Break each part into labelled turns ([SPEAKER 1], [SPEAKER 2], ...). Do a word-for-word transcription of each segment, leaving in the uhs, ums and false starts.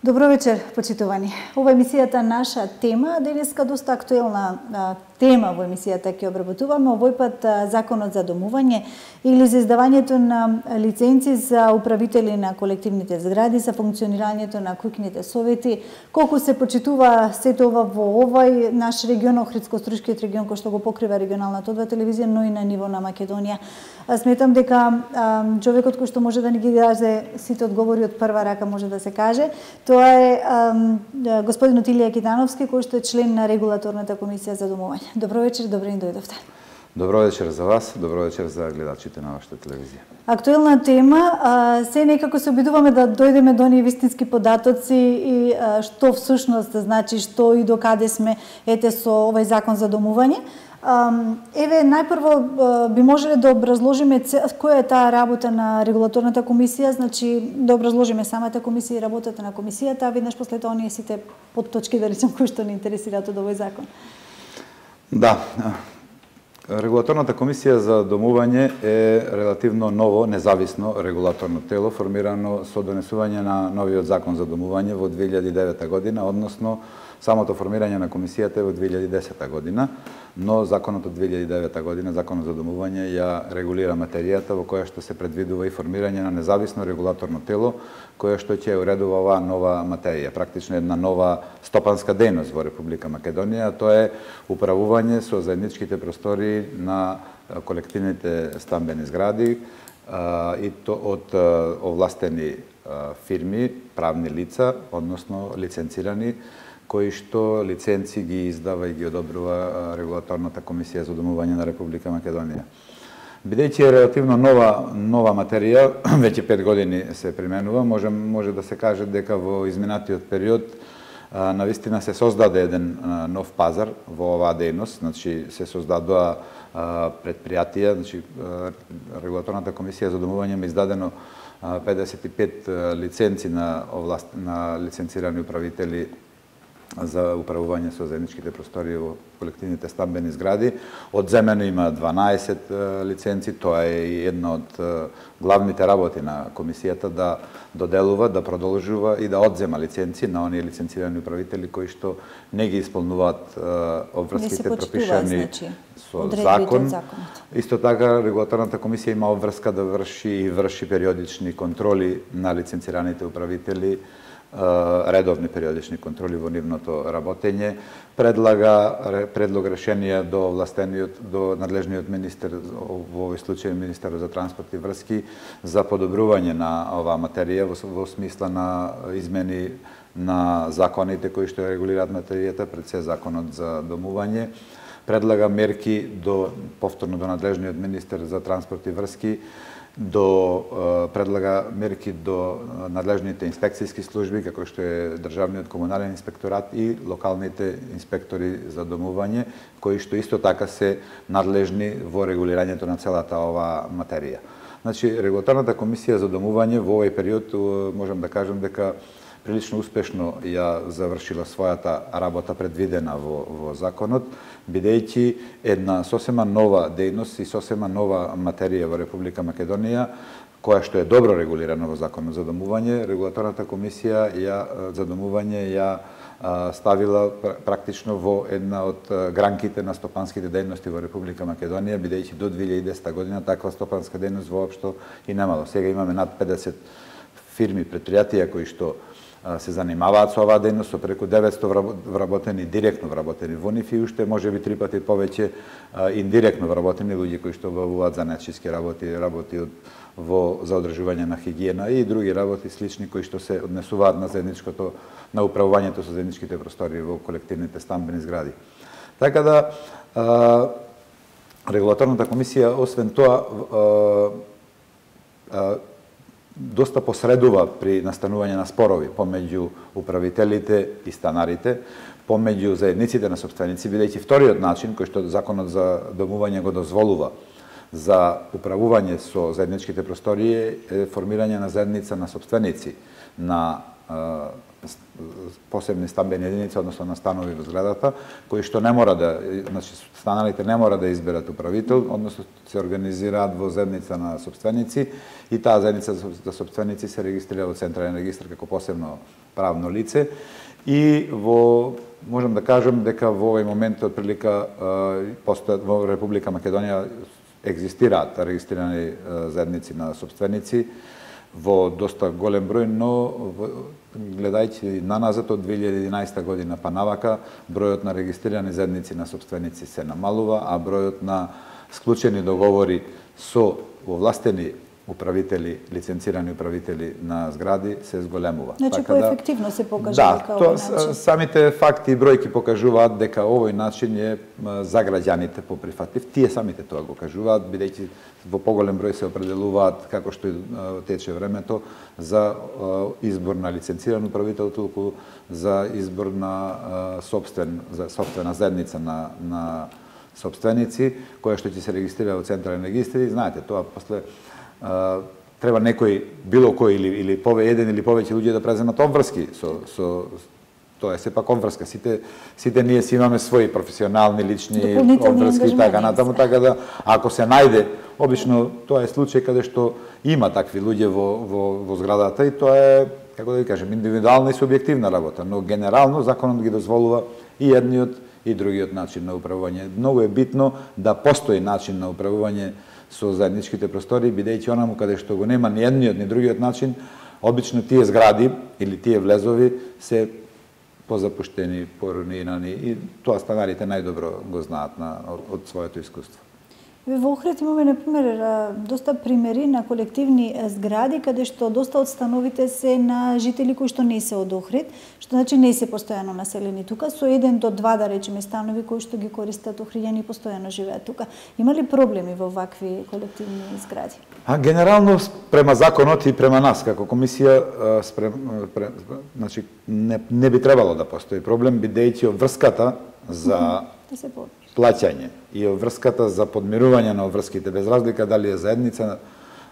[SPEAKER 1] Добро вечер, почитувани. Ова емисијата наша тема, денеска доста актуелна а, тема во емисијата ќе обработуваме, овој пат а, законот за домување или за издавањето на лиценци за управители на колективните згради, за функционирањето на куќните совети, колку се почитува сето ова во овој наш регион, Охридско-Струшкиот регион, кој што го покрива регионалната одва телевизија, но и на ниво на Македонија. А, сметам дека а, човекот кој што може да ни ги даде сите одговори од прва рака, може да се каже, тоа е ам, господинот Илија Китановски, кој што е член на регулаторната комисија за домување. Добро вечер, добре ни дојдовте.
[SPEAKER 2] Добро вечер за вас, добро вечер за гледачите на вашата телевизија.
[SPEAKER 1] Актуелна тема, а, се некако се обидуваме да дојдеме до оние вистински податоци и а, што всушност значи, што и до каде сме ете со овој закон за домување. Еве, најпрво би можеле да образложиме која е таа работа на регулаторната комисија, значи да образложиме самата комисија и работата на комисијата, а веднаш после тоа оние сите подточки, да речем, кои што ни интересираат од овој закон.
[SPEAKER 2] Да, регулаторната комисија за домување е релативно ново, независно регулаторно тело, формирано со донесување на новиот закон за домување во две илјади и девета година, односно самото формирање на комисијата е во две илјади и десета година, но законот од две илјади и девета година, законот за домување, ја регулира материјата во која што се предвидува и формирање на независно регулаторно тело, која што ќе уредува оваа нова материја, практично една нова стопанска дејност во Република Македонија, тоа е управување со заедничките простори на колективните стамбени згради и то од овластени фирми, правни лица, односно лиценцирани, кои што лиценци ги издава и ги одобрува регулаторната комисија за домување на Република Македонија. Бидејќи е релативно нова нова материја, веќе пет години се применува, може може да се каже дека во изминатиот период навистина се создаде еден нов пазар во оваа дејност, значи се создадоа предпријатија, значи регулаторната комисија за домување има издадено педесет и пет лиценци на овласт на лиценцирани управители за управување со заедничките простори во колективните стамбени згради. Одземено има дванаесет лиценци, тоа е и една од главните работи на комисијата да доделува, да продолжува и да одзема лиценци на оние лиценцирани управители кои што не ги исполнуваат обврските пропишани значи, со закон. Исто така регулаторната комисија има обврска да врши и врши периодични контроли на лиценцираните управители, редовни периодични контроли во нивното работење, предлага предлог решенија до властениот, до надлежниот министер, во овој случај министерот за транспорт и врски, за подобрување на оваа материја во, во смисла на измени на законите кои што регулираат материјата, пред се законот за домување, предлага мерки до повторно до надлежниот министер за транспорт и врски, до предлага мерки до надлежните инспекцијски служби, како што е Државниот комунален инспекторат и локалните инспектори за домување, кои што исто така се надлежни во регулирањето на целата оваа материја. Значи, регулаторната комисија за домување во овој период можам да кажам дека прилично успешно ја завршила својата работа предвидена во, во законот, бидејќи една сосема нова дејност и сосема нова материја во Република Македонија, која што е добро регулирана во законот за домување, регулаторната комисија ја за домување ја ставила практично во една од гранките на стопанските дејности во Република Македонија, бидејќи до две илјади и десета година таква стопанска дејност воопшто и немало. Сега имаме над педесет фирми, предпријатија кои што се занимаваат со оваа дејност, со преку деветсто вработени, директно вработени во нив и уште може би три пати повеќе индиректно вработени луѓе кои што обавуваат занатчиски работи, работи од, во за одржување на хигиена и други работи слични кои што се однесуваат на заедничкото на управувањето со заедничките простори во колективните стамбени згради. Така да а, регулаторната комисија освен тоа а, а, доста посредува при настанување на спорови помеѓу управителите и станарите, помеѓу заедниците на сопственици, бидејќи вториот начин кој што законот за домување го дозволува за управување со заедничките простори е формирање на заедница на сопственици на посебни стамбени единици, односно на станови во зградата, кои што не мора да, значи станалите не мора да изберат управител, односно се организираат во заедница на собственици и таа заедница за собственици се регистрира во Централен регистар како посебно правно лице и во можам да кажам дека во овој момент од прилика постојат во Република Македонија екзистираат регистрирани заедници на собственици во доста голем број, но гледајќи наназад од две илјади и единаесета година па навака, бројот на регистрирани заедници на собственици се намалува, а бројот на склучени договори со овластени управители, лиценцирани управители на згради се зголемува.
[SPEAKER 1] Значи,
[SPEAKER 2] така
[SPEAKER 1] поефективно се покажува
[SPEAKER 2] да,
[SPEAKER 1] дека
[SPEAKER 2] тоа,
[SPEAKER 1] овој начин.
[SPEAKER 2] Самите факти и бројки покажуваат дека овој начин е за граѓаните поприфатлив. Тие самите тоа го кажуваат, бидејќи во поголем број се определуваат, како што тече времето, за избор на лиценциран управител, толку за избор на собствен, за собствена заедница на, на собственици, која што ќе се регистрира во Централен регистар. И знаете, тоа после Uh, треба некој, било кој или, или пове, еден или повеќе луѓе да преземат обврски со, со тоа е сепак обврска. Сите, сите ние си имаме своји професионални, лични обврски и така натаму, така да ако се најде, обично тоа е случај каде што има такви луѓе во, во, во зградата и тоа е, како да ви кажем, индивидуална и субјективна работа, но генерално законот ги дозволува и едниот и другиот начин на управување. Многу е битно да постои начин на управување со заедничките простори, бидејќи онаму каде што го нема ни едниот ни другиот начин, обично тие згради или тие влезови се позапуштени, поруинирани и тоа станарите најдобро го знаат на, од, од своето искуство.
[SPEAKER 1] Во Охрид имаме, например, доста примери на колективни згради, каде што доста од становите се на жители кои што не се од Охрид, што значи не се постојано населени тука, со еден до два, да речеме, станови кои што ги користат охриѓани и постојано живеат тука. Има ли проблеми во вакви колективни згради?
[SPEAKER 2] А генерално према законот и према нас како комисија, спрем, спрем, значи не, не би требало да постои проблем, бидејќи обврската за
[SPEAKER 1] да се
[SPEAKER 2] плаќање и обврската за подмирување на обврските, без разлика дали е заедница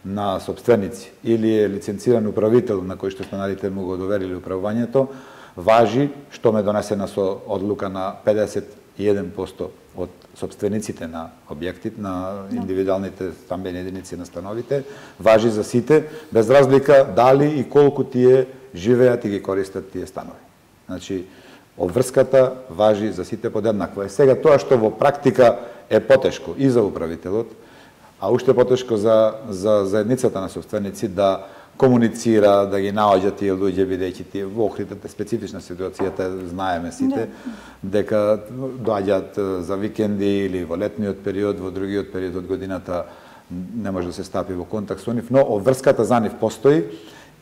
[SPEAKER 2] на собственици или е лиценциран управител на кој што станарите му го доверили управувањето, важи, што ме донесена со одлука на педесет и еден проценти од собствениците на објектите, на индивидуалните стамбени единици на становите, важи за сите, без разлика дали и колку тие живеат и ги користат тие станови. Значи, обврската важи за сите подеднакво. Е сега тоа што во практика е потешко и за управителот, а уште потешко за, за заедницата на собственици да комуницира, да ги наоѓа тие луѓе, бидејќи тие во Охрид е специфична ситуацијата, знаеме сите, дека доаѓаат за викенди или во летниот период, во другиот период од годината не може да се стапи во контакт со нив, но обврската за нив постои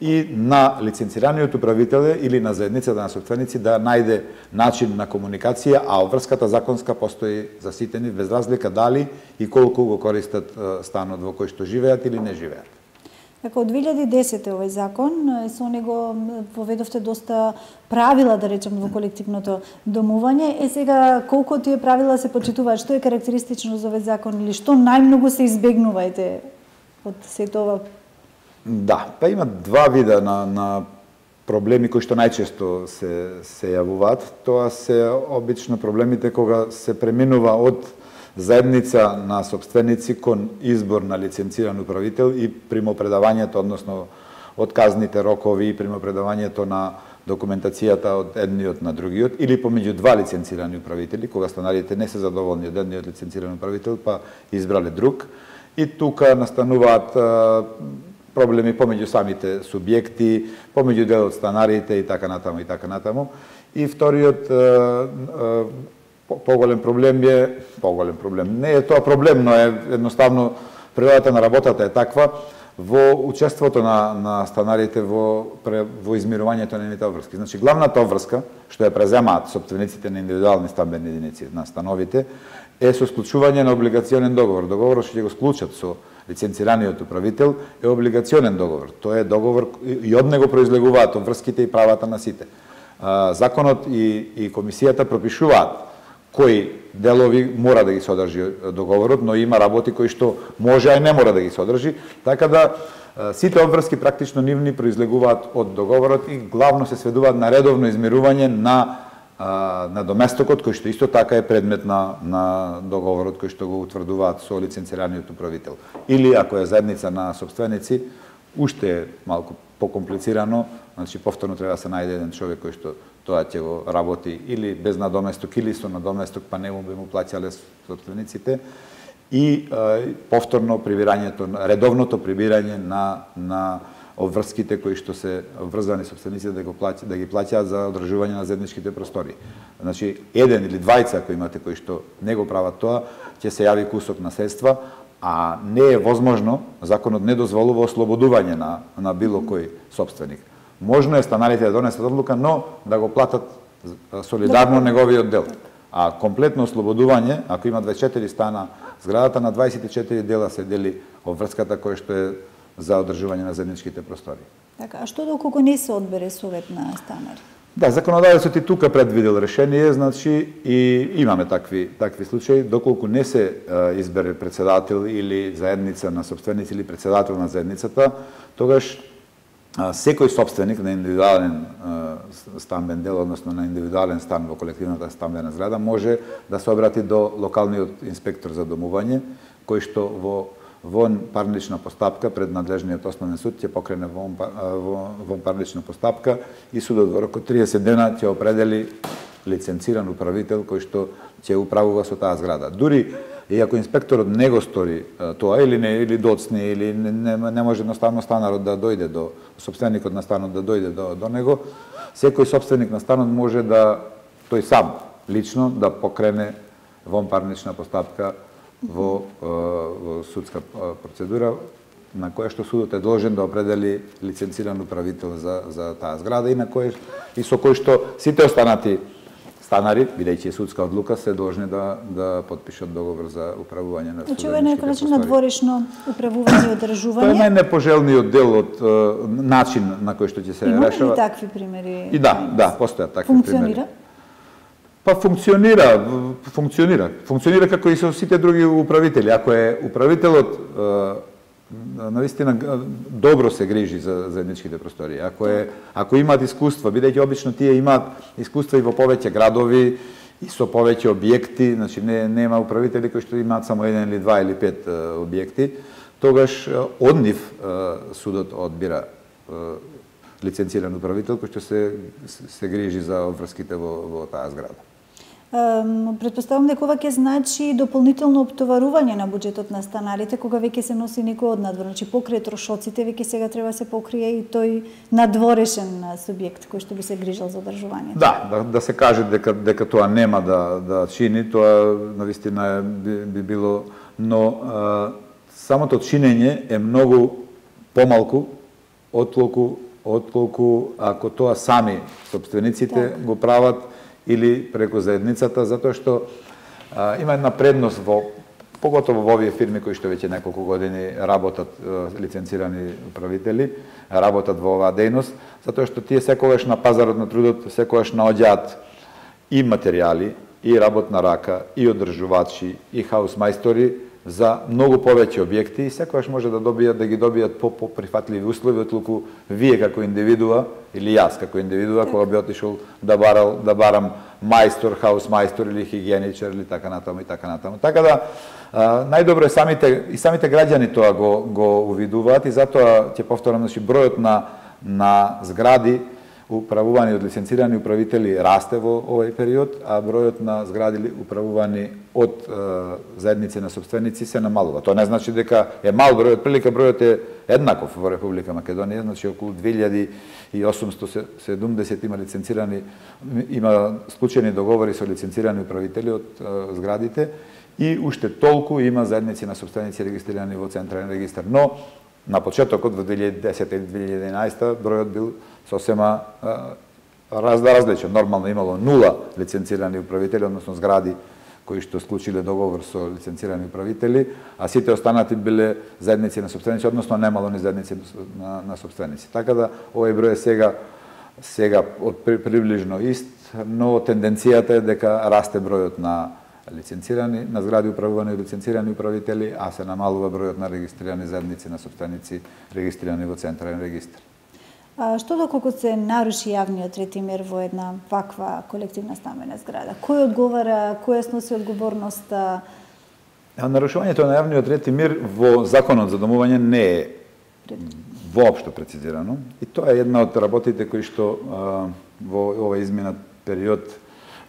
[SPEAKER 2] и на лиценцираниот управител или на заедницата на собственици да најде начин на комуникација, а обврската законска постои за сите нив, без разлика дали и колку го користат станот во кој што живеат или не живеат.
[SPEAKER 1] Како од две илјади и десета овој закон, со него поведовте доста правила, да речем, во колективното домување. Е сега, колку тие правила се почитуваат, што е карактеристично за овој закон или што најмногу се избегнувајте од сето ова?
[SPEAKER 2] Да, па има два вида на, на проблеми кои што најчесто се, се јавуваат. Тоа се обично проблемите кога се преминува од заедница на собственици кон избор на лиценциран управител и примопредавањето, односно од казните рокови и примопредавањето на документацијата од едниот на другиот, или помеѓу два лиценцирани управители, кога станарите не се задоволни од едниот лиценциран управител, па избрале друг. И тука настануваат проблеми помеѓу самите субјекти, помеѓу дел од станарите и така натаму и така натаму. И вториот поголем проблем е, поголем проблем, не е тоа проблем, но е едноставно природата на работата е таква, во учеството на, на станарите во, во измирувањето на нивните обврски. Значи, главната обврска, што ја преземаат собствениците на индивидуални стамбени единици на становите, е со склучување на облигационен договор. Договорот што ќе го склучат со лиценцираниот управител е облигационен договор. Тоа е договор и од него произлегуваат обврските и правата на сите. Законот и, и комисијата пропишуваат кои делови мора да ги содржи договорот, но има работи кои што може, а и не мора да ги содржи, така да сите обврски практично нивни произлегуваат од договорот и главно се сведуваат на редовно измирување на на доместокот, кој што исто така е предмет на, на договорот кој што го утврдуваат со лиценцираниот управител. Или ако е заедница на собственици, уште е малку покомплицирано, значи повторно треба да се најде еден човек кој што тоа ќе го работи или без надоместок или со надоместок, па не му би му плаќале собствениците, и е, повторно прибирањето, редовното прибирање на на обврските кои што се врзани собствениците да го плаќа, да ги плаќаат за одржување на заедничките простори. Значи еден или двајца кои имате кои што не го прават тоа, ќе се јави кусок на средства, а не е возможно, законот не дозволува ослободување на на било кој собственик. Можно е станарите да донесат одлука, но да го платат солидарно неговиот дел. А комплетно ослободување, ако има дваесет и четири стана зградата, на дваесет и четири дела се дели обврската која што е за одржување на заедничките простори.
[SPEAKER 1] Така, а што доколку не се одбере совет на станари?
[SPEAKER 2] Да, законодавецот и тука предвидел решение, значи и имаме такви такви случаи, доколку не се а, избере председател или заедница на собственици или председател на заедницата, тогаш а, секој собственик на индивидуален а, стамбен дел, односно на индивидуален стан во колективната стамбена зграда, може да се обрати до локалниот инспектор за домување, кој што во вон парнична постапка пред надлежниот основен суд ќе покрене вон, вон парнична постапка и судот во рок од триесет дена ќе определи лиценциран управител кој што ќе управува со таа зграда. Дури и ако инспекторот не го стори тоа или не или доцне или не, не, не може едноставно станарот да дојде до собственикот на станот да дојде до до него, секој собственик на станот може да тој сам лично да покрене вон парнична постапка во, во судска процедура на која што судот е должен да определи лиценциран управител за за таа зграда и на кој и со кој што сите останати станари, бидејќи е судска одлука, се должни да да потпишат договор за управување на
[SPEAKER 1] суденичките простори. Значи, ова е некој начин на дворешно управување и одржување.
[SPEAKER 2] Тоа е најнепожелниот дел од начин на кој што ќе се
[SPEAKER 1] Има
[SPEAKER 2] решава.
[SPEAKER 1] Има ли такви примери?
[SPEAKER 2] И да, да, постојат такви
[SPEAKER 1] Функционира?
[SPEAKER 2] примери. Па функционира, функционира. Функционира како и со сите други управители. Ако е управителот навистина добро се грижи за заедничките простори, ако е ако имаат искуства, бидејќи обично тие имаат искуства и во повеќе градови и со повеќе објекти, значи не нема управители кои што имаат само еден или два или пет објекти, тогаш од нив судот одбира лиценциран управител кој што се се грижи за обврските во во таа зграда.
[SPEAKER 1] Претпоставам дека ова ќе значи дополнително оптоварување на буџетот на станарите кога веќе се носи некој од надвор, значи покрај трошоците веќе сега треба да се покрие и тој надворешен субјект кој што би се грижал за одржувањето.
[SPEAKER 2] Да, да, да се каже дека дека тоа нема да да чини, тоа навистина би, би било, но а, самото чинење е многу помалку отколку отколку ако тоа сами собствениците так го прават или преку заедницата, затоа што а, има една предност во поготово во овие фирми кои што веќе неколку години работат а, лиценцирани управители, работат во оваа дејност, затоа што тие секогаш на пазарот на трудот секогаш наоѓаат и материјали, и работна рака, и одржувачи, и хаусмајстори за многу повеќе објекти и секогаш може да добијат да ги добијат по поприфатливи услови отколку вие како индивидуа или јас како индивидуа кога би отишол да барал да барам мајстор, хаусмајстор или хигиеничар или така натаму и така натаму. Така да а, најдобро е самите и самите граѓани тоа го го увидуваат и затоа ќе повторам, значи бројот на на згради управувани од лиценцирани управители расте во овој период, а бројот на згради управувани од е, заедници на собственици се намалува. Тоа не значи дека е мал бројот, прилика бројот е еднаков во Република Македонија, значи околу две илјади и осумстотини и седумдесет има лиценцирани, има склучени договори со лиценцирани управители од е, зградите и уште толку има заедници на собственици регистрирани во Централен регистар. Но на почетокот во две илјади и десета и две илјади и единаесета бројот бил сосема раз, различен. Нормално имало нула лиценцирани управители, односно згради кои што склучиле договор со лиценцирани управители, а сите останати биле заедници на собственици, односно немало ни заедници на, на собственици. Така да овој број е сега сега од приближно ист, но тенденцијата е дека расте бројот на лиценцирани, на згради управувани од лиценцирани управители, а се намалува бројот на регистрирани заедници на сопственици регистрирани во централен регистар.
[SPEAKER 1] А што доколку се наруши јавниот ред и мир во една ваква колективна стамбена зграда? Кој одговара, кој сноси одговорноста?
[SPEAKER 2] Нарушувањето на јавниот ред и мир во Законот за домување не е воопшто прецизирано и тоа е една од работите кои што а, во овој изминат период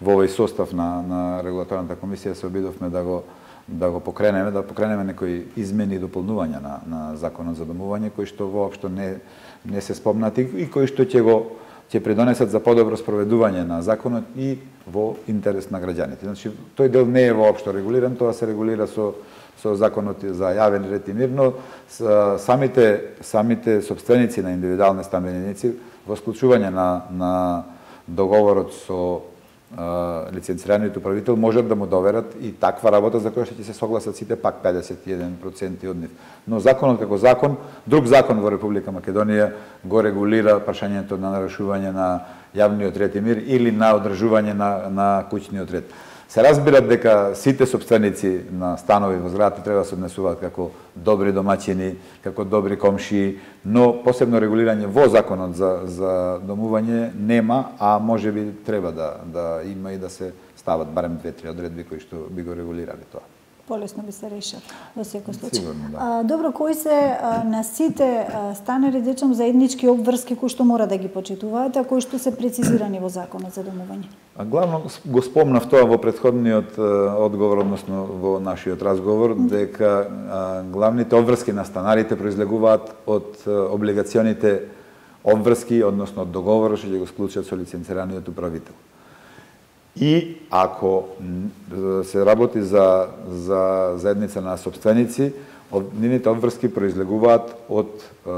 [SPEAKER 2] во овој состав на на регулаторната комисија се обидовме да го да го покренеме, да покренеме некои измени и дополнувања на на Законот за домување кои што воопшто не не се спомнати и кои што ќе го ќе придонесат за подобро спроведување на законот и во интерес на граѓаните. Значи, тој дел не е воопшто регулиран, тоа се регулира со со законот за јавен ред и мир, но самите самите сопственици на индивидуални стамбени единици во склучување на на договорот со лиценцираниот управител можат да му доверат и таква работа за која што ќе се согласат сите пак педесет и еден проценти од нив. Но законот како закон, друг закон во Република Македонија го регулира прашањето на нарушување на јавниот ред и мир или на одржување на на куќниот ред. Се разбира дека сите сопственици на станови во зградата треба да се однесуваат како добри домаќини, како добри комшии, но посебно регулирање во законот за за домување нема, а можеби треба да да има и да се стават барем две-три одредби кои што би го регулирале тоа.
[SPEAKER 1] Полесно би се решил во секој случај.
[SPEAKER 2] Сигурно, да.
[SPEAKER 1] А, добро, кои се а, на сите а, станари, речем, заеднички обврски кои што мора да ги почитуваат, а кои што се прецизирани во Законот за домување?
[SPEAKER 2] А главно го спомнав тоа во претходниот а, одговор, односно во нашиот разговор, дека а, главните обврски на станарите произлегуваат од а, облигационите обврски, односно од договорот што ќе го склучат со лиценцираниот управител. И ако се работи за за заедница на сопственици, нивните обврски произлегуваат од е,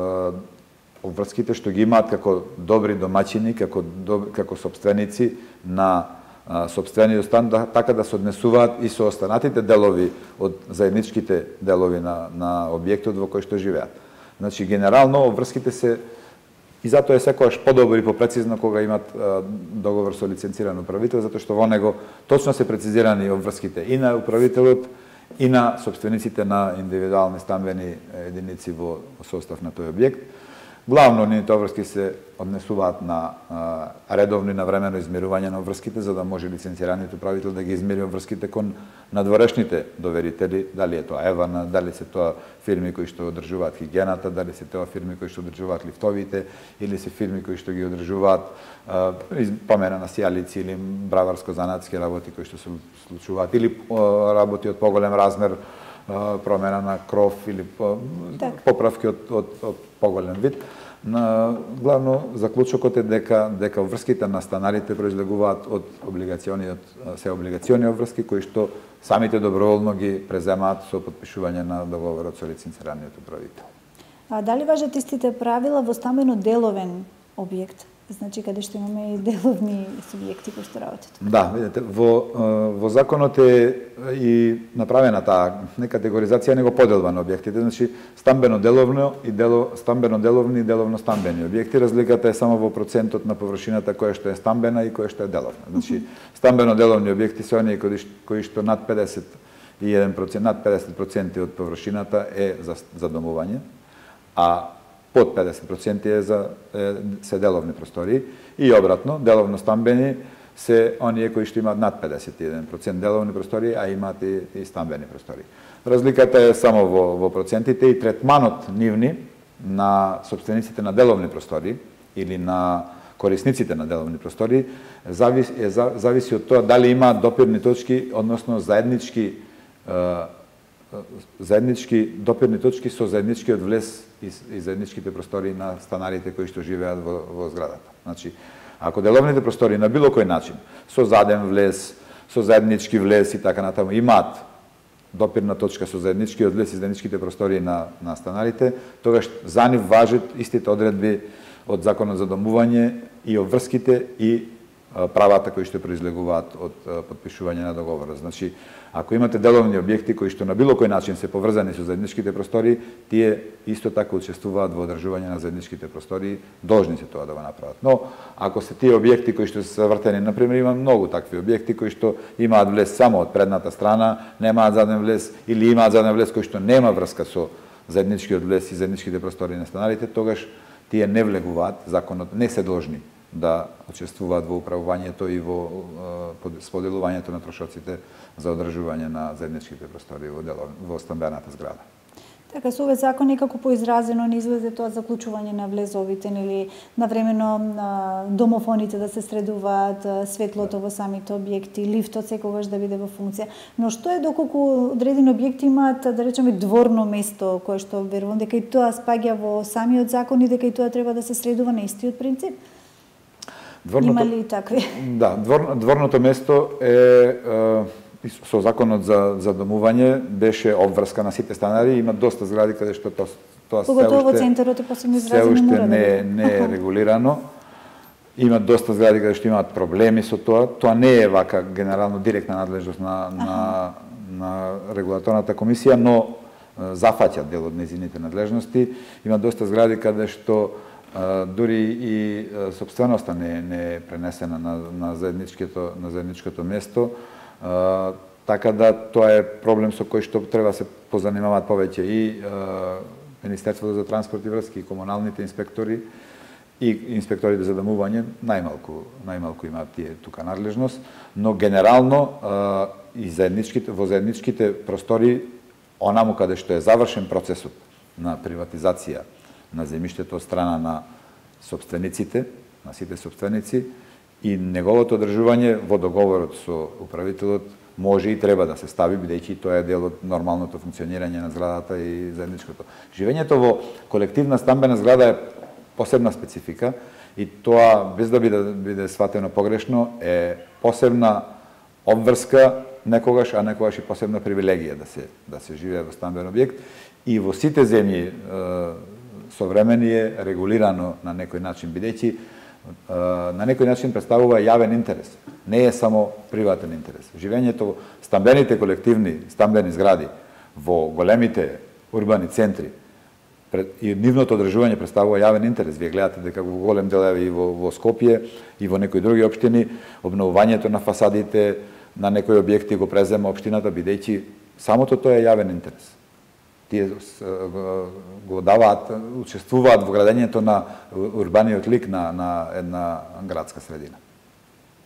[SPEAKER 2] обврските што ги имаат како добри домаќини, како доб, како сопственици на е, сопствениот стан, да, така да се однесуваат и со останатите делови од заедничките делови на на објектот во кој што живеат. Значи генерално обврските се и затоа е секогаш подобро и попрецизно кога имат а, договор со лиценциран управител, затоа што во него точно се прецизирани обврските и на управителот и на сопствениците на индивидуални стамбени единици во состав на тој објект. Главно нивните обврски се однесуваат на а, редовно и навремено измерување на обврските, за да може лиценцираниот управител да ги измери обврските кон надворешните доверители, дали е тоа Евана, дали се тоа фирми кои што одржуваат хигиената, дали се тоа фирми кои што одржуваат лифтовите, или се фирми кои што ги одржуваат а, помена на сијалици или браварско-занатски работи кои што се случуваат, или а, работи од поголем размер, а, промена на кров или а, поправки од, од, од поголем вид. На главно заклучокот е дека дека обврските на станарите произлегуваат од облигациониот се облигациони обврски кои што самите доброволно ги преземаат со потпишување на договорот со лиценцираниот управител.
[SPEAKER 1] А дали важат истите правила во стамбено деловен објект? Значи каде што имаме и деловни субјекти кои што работат. Да,
[SPEAKER 2] видите, во во законот е и направена таа не категоризација, него поделба на објектите, значи стамбено деловно и дело стамбено деловни и деловно стамбени објекти. Разликата е само во процентот на површината која што е стамбена и која што е деловна. Значи стамбено деловни објекти се оние кои, кои што над педесет и еден процент, над педесет проценти од површината е за за домување, а под педесет проценти е за е, се деловни простории и обратно, деловно стамбени се оние кои што имаат над педесет и еден процент деловни простории, а имаат и, и стамбени простории. Разликата е само во, во процентите и третманот нивни на собствениците на деловни простории или на корисниците на деловни простории зависи, е, зависи од тоа дали имаат допирни точки, односно заеднички е, заеднички допирни точки со заедничкиот влез и, и заедничките простории на станарите кои што живеат во, во зградата. Значи, ако деловните простории на било кој начин, со заден влез, со заеднички влез и така натаму, имаат допирна точка со заедничкиот влез и заедничките простории на, на станарите, тогаш за нив важат истите одредби од Законот за домување и обврските и правата кои што произлегуваат од потпишување на договорот. Значи, ако имате деловни објекти кои што на било кој начин се поврзани со заедничките простори, тие исто така учествуваат во одржување на заедничките простори, должни се тоа да го направат. Но ако се тие објекти кои што се вртени, на пример, има многу такви објекти кои што имаат влез само од предната страна, немаат заден влез или имаат заден влез кој што нема врска со заедничкиот влез и заедничките простори на станарите, тогаш тие не влегуваат, законот не се должни да учествуваат во управувањето и во споделувањето на трошоците за одржување на заедничките простори во, дело, во стамбената зграда.
[SPEAKER 1] Така, со овој закон некако поизразено не излезе тоа заклучување на влезовите, нели, навремено домофоните да се средуваат, светлото во самите објекти, лифтот секогаш да биде во функција. Но што е доколку одредени објекти имаат, да речеме, дворно место, кое што верувам дека и тоа спаѓа во самиот закон и дека и тоа треба да се средува на истиот принцип? Дворното, има ли такви?
[SPEAKER 2] Да, двор, дворното место е, е со законот за, за домување беше обврска на сите станари, има доста згради каде што тоа, тоа
[SPEAKER 1] поготово во центарот е посебно изразено,
[SPEAKER 2] се уште
[SPEAKER 1] не,
[SPEAKER 2] не, не е регулирано. Има доста згради каде што имаат проблеми со тоа. Тоа не е вака генерално директна надлежност на, на, на регулаторната комисија, но зафаќа дел од незините надлежности. Има доста згради каде што дури и собственоста не, не е пренесена на, на, заедничкото, на заедничкото место, а, така да тоа е проблем со кој што треба се позанимаваат повеќе и а, Министерството за транспорт и врски, и комуналните инспектори и инспекторите за домување, најмалку, најмалку имаат тие тука надлежност, но генерално а, и заедничките, во заедничките простори, онаму каде што е завршен процесот на приватизација на земјиштето од страна на собствениците, на сите собственици, и неговото одржување во договорот со управителот може и треба да се стави, бидејќи тоа е дел од нормалното функционирање на зградата и заедничкото. Живењето во колективна стамбена зграда е посебна специфика и тоа, без да биде, биде сватено погрешно, е посебна обврска некогаш, а некогаш и посебна привилегија да се, да се живее во стамбен објект. И во сите земји современи е регулирано на некој начин, бидејќи на некој начин представува јавен интерес. Не е само приватен интерес. Живењето во стамбените колективни стамбени згради во големите урбани центри и нивното одржување представува јавен интерес. Вие гледате дека во голем дел и во, во Скопје и во некои други општини обновувањето на фасадите на некои објекти го презема општината, бидејќи самото тоа е јавен интерес. Тие го даваат, учествуваат во градењето на урбаниот лик на, на една градска средина.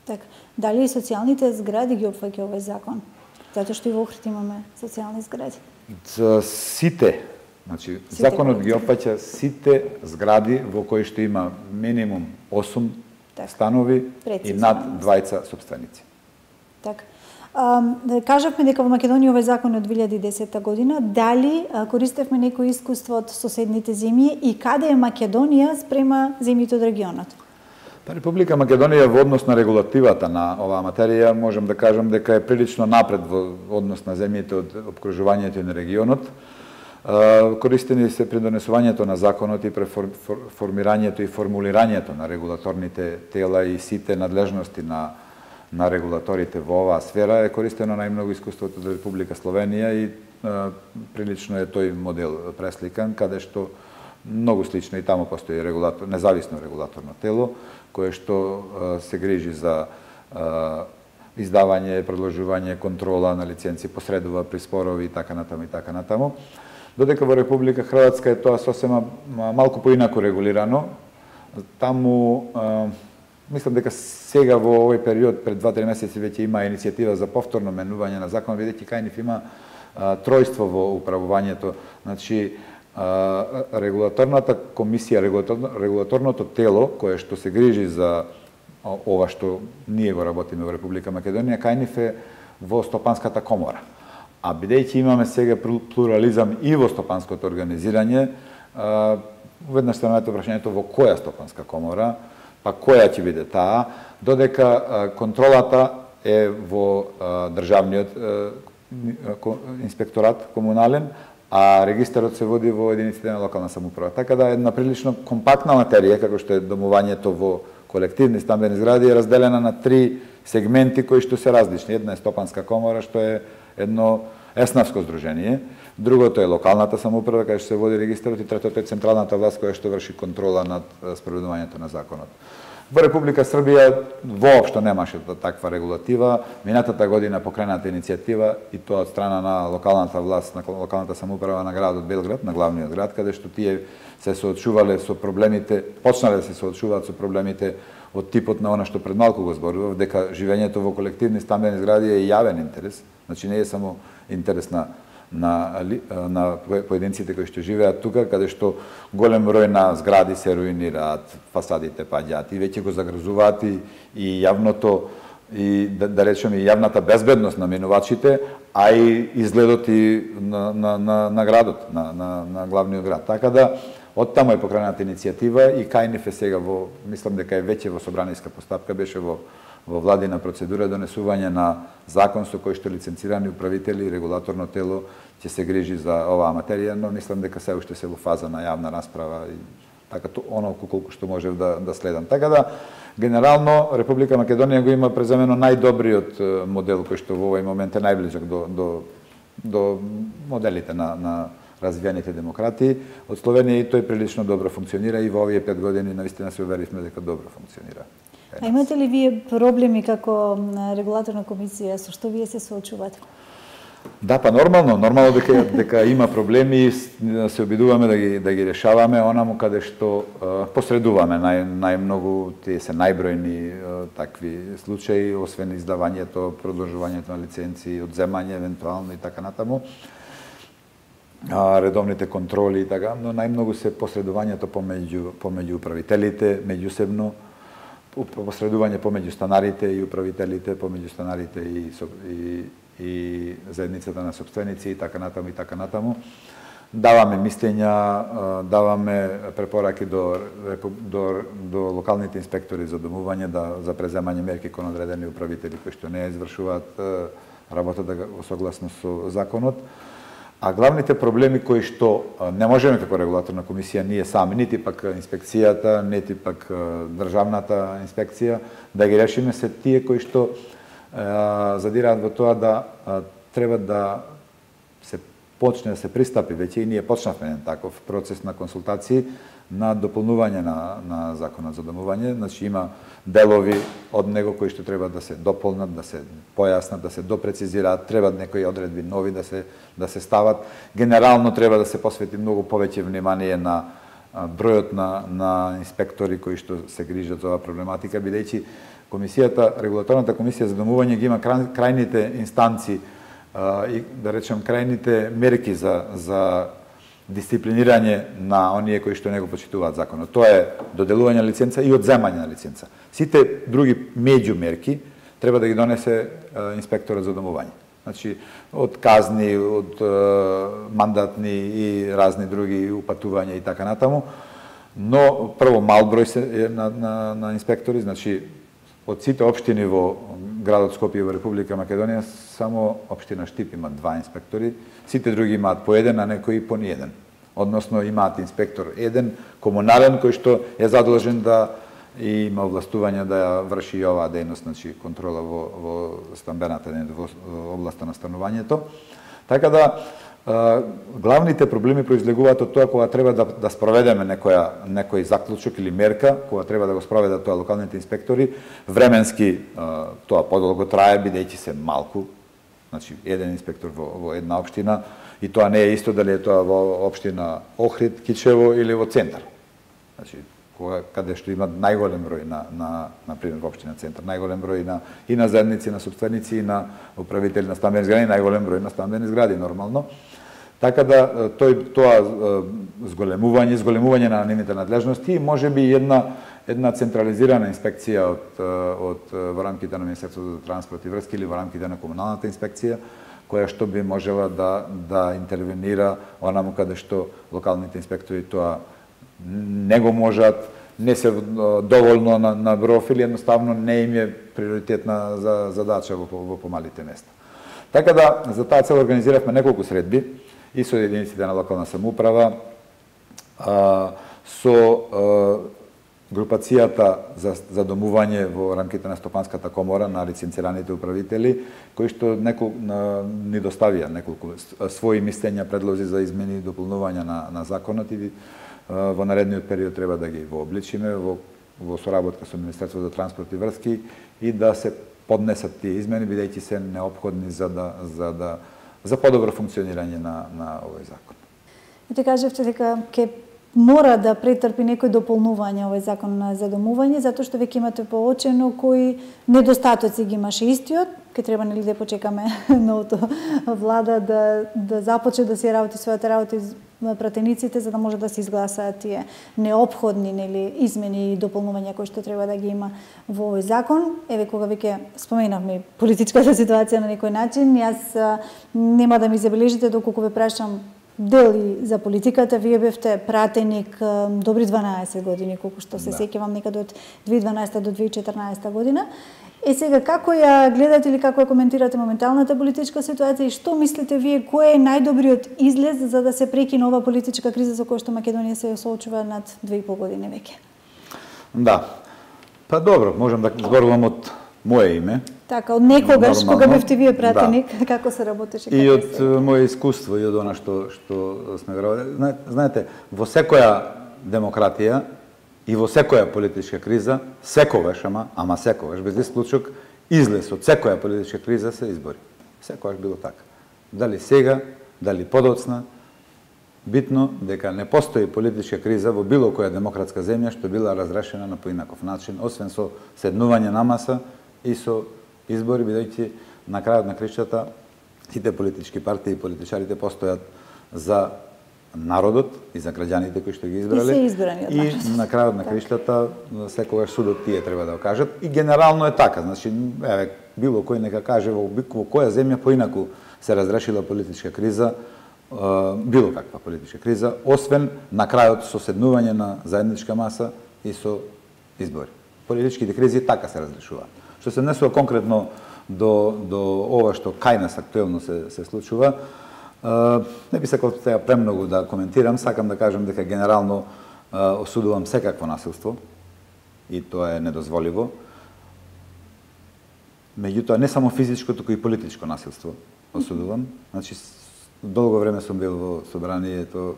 [SPEAKER 1] Така, дали и социјалните згради ги опфаќа овој закон? Затоа што и во Охрид имаме социјални згради. За
[SPEAKER 2] сите, значи сите законот ги опфаќа сите згради во кои што има минимум осум так, станови прецизно, и над двајца собственици.
[SPEAKER 1] Така. Uh, кажавме дека во Македонија овој закон е од две илјади и десета година. Дали uh, користевме некој искуство од соседните земји и каде е Македонија спрема земјите од регионот?
[SPEAKER 2] Па Република Македонија во однос на регулативата на оваа материја можам да кажам дека е прилично напред во однос на земјите од обкружувањето и на регионот. Uh, користени се при донесувањето на законот и при фор, фор, формирањето и формулирањето на регулаторните тела и сите надлежности на на регулаторите во оваа сфера е користено најмногу искуството од Република Словенија и а, прилично е тој модел пресликан, каде што многу слично и таму постои регулатор, независно регулаторно тело, кое што а, се грижи за а, издавање, продолжување, контрола на лиценци, посредува при спорови и така натаму и така натаму. Додека во Република Хрватска е тоа сосема малку поинаку регулирано. Таму а, мислам дека сега во овој период, пред два-три месеци, веќе има иницијатива за повторно менување на закон, бидејќи кај нив има а, тројство во управувањето. Значи, а, регулаторната комисија, регулаторно, регулаторното тело, кое што се грижи за ова што ние го работиме во Република Македонија, кај нив е во Стопанската комора. А бидејќи имаме сега плурализам и во стопанското организирање, а, веднаш се најдете прашањето во која стопанска комора, па која ќе биде таа, додека а, контролата е во а, државниот а, инспекторат комунален, а регистарот се води во единиците на локална самоуправа. Така да е една прилично компактна материја, како што е домувањето во колективни стамбени згради е разделена на три сегменти кои што се различни. Една е Стопанска комора, што е едно еснавско здружение, другото е локалната самоуправа, каде што се води регистарот, и третото е централната власт која што врши контрола над спроведувањето на законот. Во Република Србија воопшто немаше таква регулатива. Минатата година покрената иницијатива, и тоа од страна на локалната власт, на локалната самоуправа на градот Белград, на главниот град, каде што тие се соочувале со проблемите, почнале да се соочуваат со проблемите од типот на она што пред малку го зборував, дека живењето во колективни стамбени згради е јавен интерес, значи не е само интерес на на на поединците кои што живеат тука, каде што голем број на згради се руинираат, фасадите паѓаат и веќе го загрозуваат и, и јавното и да, да речеме и јавната безбедност на минувачите, а и изгледот и на на на, на градот, на на на главниот град. Така да оттаму е покрената иницијатива и кај ниф е сега во, мислам дека е веќе во собраниска постапка, беше во во владина процедура донесување на закон со кој што лиценцирани управители и регулаторно тело ќе се грижи за оваа материја, но мислам дека се уште се во фаза на јавна расправа и така оно колку што можев да да следам. Така да генерално Република Македонија го има преземено најдобриот модел кој што во овој момент е најблизок до до до моделите на на развиените демократии. Од Словенија и тој прилично добро функционира и во овие пет години навистина се уверивме дека добро функционира.
[SPEAKER 1] А имате ли вие проблеми како регулаторна комисија, со што вие се соочувате?
[SPEAKER 2] Да, па нормално, нормално дека дека има проблеми и се обидуваме да ги да ги решаваме онаму каде што uh, посредуваме. Нај најмногу тие се најбројни uh, такви случаи, освен издавањето, продолжувањето на лиценци, одземање евентуално и така натаму. А, редовните контроли и така, но најмногу се посредувањето помеѓу помеѓу управителите, меѓусебно, посредување помеѓу станарите и управителите, помеѓу станарите и и и заедницата на сопственици и така натаму и така натаму. Даваме мислења, даваме препораки до до до локалните инспектори за домување да за преземање мерки кон одредени управители кои што не извршуваат работата во согласно со законот. А главните проблеми кои што не можеме како регулаторна комисија ние сами, нити пак инспекцијата, нити пак државната инспекција да ги решиме, се тие кои што задираат во тоа да треба да се почне да се пристапи, веќе и ние почнавме еден таков процес на консултации на дополнување на на законот за домување, значи има делови од него кои што треба да се дополнат, да се појаснат, да се допрецизираат, треба некои одредби нови да се да се стават. Генерално треба да се посвети многу повеќе внимание на бројот на на инспектори кои што се грижат за оваа проблематика, бидејќи комисијата, регулаторната комисија за домување ги има крајните инстанци и да речем крајните мерки за за дисциплинирање на оние кои што не го почитуваат законот. Тоа е доделување на лиценца и одземање на лиценца. Сите други меѓумерки треба да ги донесе инспекторот за домување. Значи, од казни, од мандатни и разни други упатувања и така натаму. Но прво мал број се на, на, на инспектори, значи од сите општини во градот Скопје во Република Македонија, само општина Штип има два инспектори, сите други имаат по еден, а некои по ниеден. Односно имаат инспектор еден, комунален, кој што е задолжен да и има овластување да ја врши и оваа дејност, значи контрола во, во стамбената, во областа на станувањето. Така да, главните проблеми произлегуваат од тоа кога треба да, да спроведеме некоја, некој заклучок или мерка, кога треба да го спроведат тоа локалните инспектори, временски тоа подолго трае, бидејќи се малку, значи еден инспектор во, во една општина, и тоа не е исто дали е тоа во општина Охрид, Кичево или во центар. Значи, кога, каде што има најголем број на, на, на пример, во општина Центар, најголем број на, и на заедници, на сопственици, и на управители на стамбени згради, најголем број на стамбени згради, нормално. Така да, тој, тоа зголемување, зголемување на нивните надлежности, може би една, една централизирана инспекција од, од, во рамките на Министерството за транспорт и врски или во рамките на комуналната инспекција, која што би можела да, да интервенира онаму каде што локалните инспектори тоа не го можат, не се доволно на, на број или едноставно не им е приоритетна за задача во, во помалите места. Така да, за таа цел организиравме неколку средби и со единиците на локална самоуправа, а, со а, групацијата за задомување во рамките на Стопанската комора на лиценцираните управители, кои што неколку ни доставија неколку своји мислења, предлози за измени и дополнувања на, на законот и во наредниот период треба да ги вообличиме во, во соработка со Министерството за транспорт и врски и да се поднесат тие измени, бидејќи се неопходни за да за да за подобро функционирање на на овој закон.
[SPEAKER 1] И те кажавте дека ќе мора да претрпи некои дополнувања овој закон за домување, затоа што веќе имате поочено кои недостатоци ги имаше истиот, ке треба нели да почекаме новото влада да да започне да си работи својата работа на пратениците за да може да се изгласаат тие неопходни нели измени и дополнувања кои што треба да ги има во овој закон. Еве кога веќе споменавме политичката ситуација на некој начин, јас нема да ми забележите доколку ве прашам дел и за политиката, вие бевте пратеник добри дванаесет години, колку што се да. сеќавам некаде од две илјади и дванаесета до две илјади и четрнаесета година. Е сега, како ја гледате или како ја коментирате моменталната политичка ситуација и што мислите вие, кој е најдобриот излез за да се прекине ова политичка криза со која што Македонија се соочува над две и пол години веќе?
[SPEAKER 2] Да. Па добро, можам да зборувам од моje име.
[SPEAKER 1] Така, од некогаш, нормално, кога бевте вие пратеник, да. Како се работеше?
[SPEAKER 2] И од се... моје искуство и од она што, што сме верували. Знаете, во секоја демократија и во секоја политичка криза, секогаш, ама, ама секогаш, без исклучок, излез од секоја политичка криза се избори. Секогаш било така. Дали сега, дали подоцна, битно дека не постои политичка криза во било која демократска земја што била разрешена на поинаков начин, освен со седнување на маса и со избори, бидејќи на крајот на кришата сите политички партии и политичарите постојат за народот и за граѓаните кои што ги избрале.
[SPEAKER 1] И се избрани од
[SPEAKER 2] народот. И на крајот на кришата секогаш судот тие треба да го кажат. И генерално е така. Значи, еве, било кој нека каже во, во која земја поинаку се разрешила политичка криза, било каква политичка криза, освен на крајот со седнување на заедничка маса и со избори. Политичките кризи така се разрешуваат. Што се однесува конкретно до, до ова што кај нас актуелно се, се случува, не би сакал сега премногу да коментирам, сакам да кажам дека генерално осудувам секакво насилство и тоа е недозволиво. Меѓутоа не само физичко, туку и политичко насилство осудувам. Значи, долго време сум бил во собранието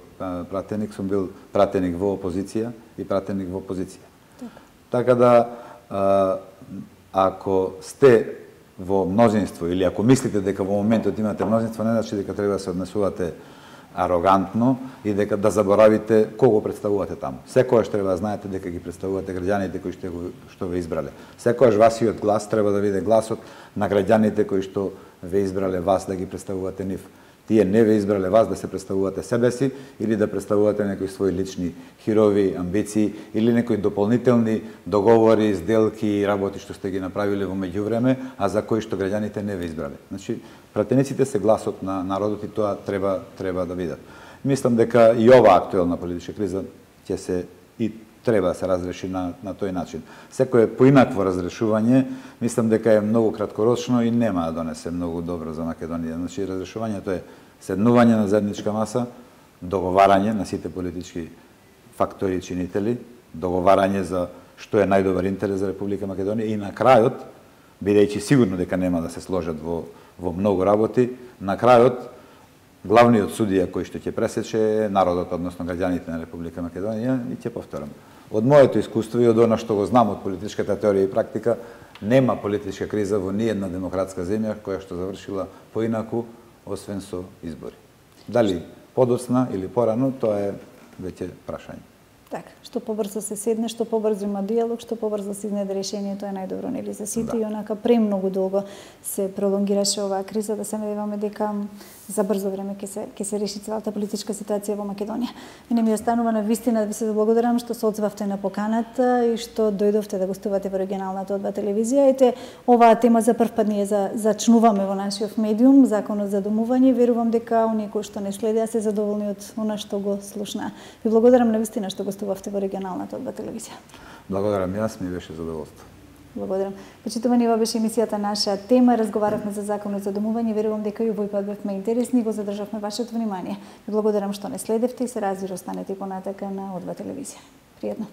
[SPEAKER 2] пратеник, сум бил пратеник во опозиција и пратеник во опозиција. Така да, ако сте во мнозинство или ако мислите дека во моментот имате мнозинство, не значи дека треба да се однесувате арогантно и дека да заборавите кого представувате таму. Секогаш треба да знаете дека ги представувате граѓаните кои што, што ве избрале. Секогаш вашиот глас треба да биде гласот на граѓаните кои што ве избрале вас да ги представувате нив. Тие не ве избрале вас да се представувате себе си или да представувате некои своји лични хирови, амбиции или некои дополнителни договори, сделки и работи што сте ги направиле во меѓувреме, а за кои што граѓаните не ве избрале. Значи, пратениците се гласот на народот и тоа треба треба да видат. Мислам дека и ова актуелна политичка криза ќе се и треба да се разреши на, на тој начин. Секој поинакво разрешување, мислам дека е многу краткорочно и нема да донесе многу добро за Македонија. Значи, разрешувањето е седнување на заедничка маса, договарање на сите политички фактори и чинители, договарање за што е најдобар интерес за Република Македонија и на крајот, бидејќи сигурно дека нема да се сложат во, во многу работи, на крајот главниот судија кој што ќе пресече е народот, односно граѓаните на Република Македонија, и ќе повторам. Од моето искуство и од она што го знам од политичката теорија и практика, нема политичка криза во ниедна демократска земја која што завршила поинаку, освен со избори. Дали подоцна или порано, тоа е веќе прашање.
[SPEAKER 1] Така, што побрзо се седне, што побрзо има диалог, што побрзо се изнајде решение, тоа е најдобро нели за сите. Да. И онака премногу долго се пролонгираше оваа криза, да се надеваме дека за брзо време ќе се ќе се реши целата политичка ситуација во Македонија. И не ми останува на вистина да ви се благодарам што се одзвавте на поканата и што дојдовте да гостувате во регионалната одба телевизија. Ете, оваа тема за прв пат ние за зачнуваме во нашиот медиум, законот за домување. Верувам дека оние кои што не следеа се задоволни од она што го слушнаа. Ви благодарам на вистина што гостувавте во регионалната одба телевизија.
[SPEAKER 2] Благодарам, јас ми беше задоволство.
[SPEAKER 1] Благодарам. Почитувани, ова беше емисијата Наша тема. Разговаравме за законот за домување. Верувам дека и овој пат бевме интересни и го задржавме вашето внимание. Ви благодарам што не следевте и се разбира, останете понатака на Одба телевизија. Пријатно.